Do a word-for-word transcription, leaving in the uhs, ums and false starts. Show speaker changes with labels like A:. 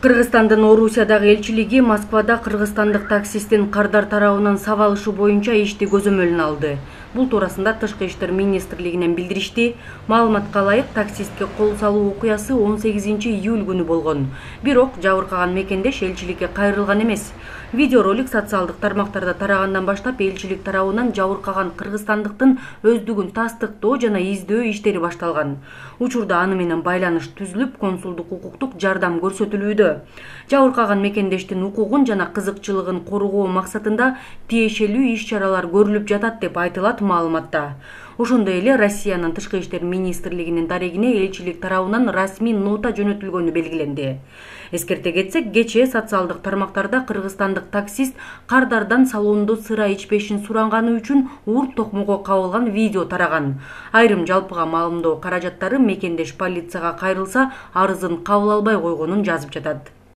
A: Кыргызстандын Орусиядагы элчилиги Москвада кыргызстандык таксисттин кардар тарабынан сабалышы боюнча ишти көзөмөлүнө алды. Бул туурасында Тышкы иштер министрлигинен билдиришти. Маалыматка ылайык, таксистке кол салуу окуясы он сегизинчи июль күнү болгон. Бирок жабыркаган мекендеш элчиликке кайрылган эмес. Видеоролик социалдык тармактарда тарагандан баштап элчилик тарабынан жабыркаган кыргызстандыктын өздүгүн тастыктоо жана издөө иштери башталган. Учурда аны менен байланыш түзүлүп, консулдук укуктук жардам көрсөтүлүүдө. Жабыркаган мекендештин укугун жана кызыкчылыгын коргоо максатында тиешелүү иш-чаралар көрүлүп жатат деп айтылат маалыматта. Ошондой эле Россиянын Тышкы иштер министрлигинин дарегине элчилик тарабынан расмий нота жөнөтүлгөнү белгиленди. Эскерте кетсек, кечээ социалдык тармактарда кыргызстандык таксист кардардан салондо сыра ичпешин суранганы үчүн ур токмого кабылган видео тараган. Айрым жалпыга маалымдоо каражаттары мекендеш полицияга кайрылса, арызын кабыл албай койгонун жазып жатат.